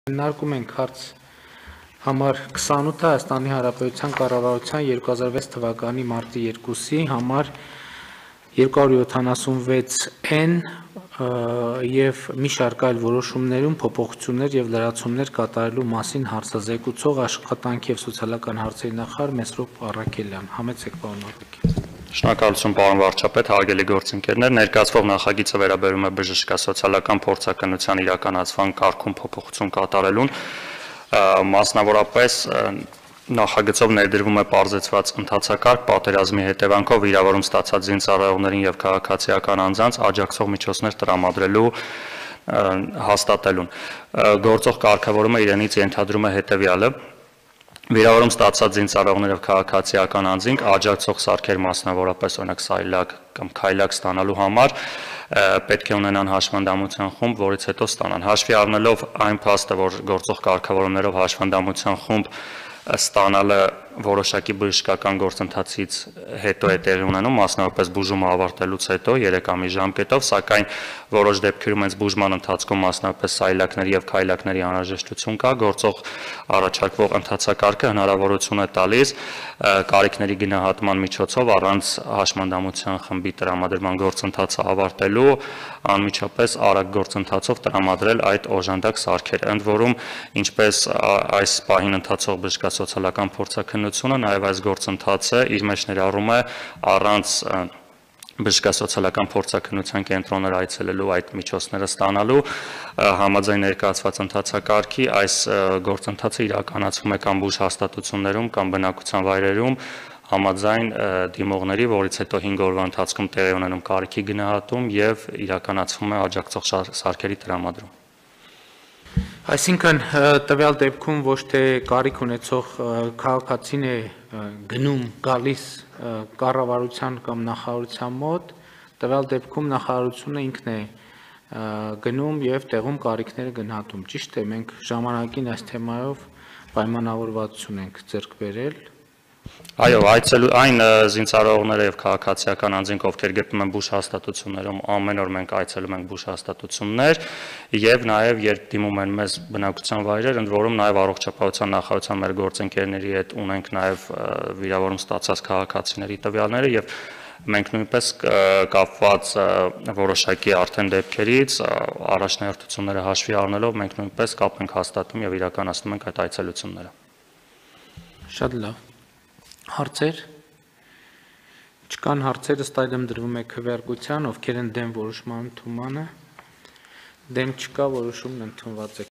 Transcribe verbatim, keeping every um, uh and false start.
Քննարկում ենք հարց համար քսանութ Հայաստանի Հանրապետության կառավարության երկու հազար վեց թվականի մարտի երկուսի համար երկու հարյուր յոթանասունվեց N եւ մի շարք այլ որոշումներում փոփոխություններ եւ լրացումներ կատարելու մասին հարցազեկուցող աշխատանքի եւ սոցիալական հարցերի նախարար Մեսրոպ Առաքելյան։ Համեցեք, պարոն Առաքելյան։ Շնորհակալություն, պարոն վարչապետ, հարգելի գործընկերներ, ներկայացվող նախագիծը վերաբերում է բժշկասոցիալական փորձաքննության իրականացման կարգում փոփոխություն կատարելուն, մասնավորապես նախագծով ներդրվում է պարզեցված ընթացակարգ պատերազմի հետևանքով վիրավորում ստացած զինծառայողներին եւ քաղաքացիական անձանց աջակցող միջոցներ տրամադրելու հաստատելուն։ Գործող կարգավորումը իրենից ենթադրում է հետեւյալը. Վիրավորում ստացած զինծառայողներ եւ քաղաքացիական անձինք աջակցող սարքեր, մասնավորապես օրինակ սայլակ կամ քայլակ ստանալու համար պետք է ունենան հաշվանդամության խումբ, որից հետո ստանան։ Հաշվի առնելով այն փաստը, որ գործող կարգավորումներով հաշվանդամության խումբ ստանալը որոշակի բժշկական գործընթացից հետո է տեղի ունենում, մասնավորապես բուժումը ավարտելուց հետո երեք ամիս ժամկետով, սակայն որոշ դեպքերում հենց բուժման ընթացքում մասնավորապես սայլակների եւ քայլակների անհրաժեշտություն կա, գործող առաջարկվող ընթացակարգը հնարավորություն է տալիս կարիքների գնահատման միջոցով առանց հաշմանդամության խմբի տրամադրման գործընթացը ավարտելու անմիջապես արագ գործընթացով տրամադրել այդ օժանդակ սարքերը։ Ընդ որում, ինչպես այս պահին ընթացող բժշկասոցիալական փորձաքննությունը, նաև այս գործընթացը իր մեջ ներառում է առանց բժշկասոցիալական փորձաքննության կենտրոններ այցելելու այդ միջոցները ստանալու համաձայն ներկայացված ընթացակարգի այս գործընթացը իրականացվում է կամ բուժհաստատություններում կամ բնակության վայրերում համաձայն դիմողների, որից հետո հինգ օրվա ընթացքում տեղի ունենում կարիքի գնահատում եւ իրականացվում է աջակցող սարքերի տրամադրում։ Այսինքն տվյալ դեպքում ոչ թե կարիք ունեցող քաղաքացին է գնում գալիս կառավարության կամ նախարարության մոտ, տվյալ դեպքում նախարարությունը ինքն է գնում եւ տեղում կարիքները գնահատում։ Ճիշտ է, մենք ժամանակին այս թեմայով պայմանավորվածություն ենք ձեռք բերել։ Այո, այցելու այն զինծառայողները եւ քաղաքացիական անձինք, ովքեր գտնվում են բուժհաստատություններում, ամեն օր մենք այցելում ենք բուժհաստատություններ եւ նաեւ երբ դիմում են մեզ բնակության վայրեր, ընդ որում նաեւ առողջապահության նախարարության մեր գործընկերների հետ ունենք նաեւ վիրավորում ստացած քաղաքացիների տվյալները եւ մենք նույնպես կապված որոշակի արդեն դեպքերից առաջնահերթությունները հաշվի առնելով մենք նույնպես կապ ենք հաստատում եւ իրականացնում ենք այդ այցելությունները։ Շատ լավ։ Հարցեր։ Չկան հարցեր, ըստ այդմ դրվում է քվեարկության, ովքեր են դեմ որոշման ընդունմանը։ Դեմ չկա, որոշումն ընդունված է։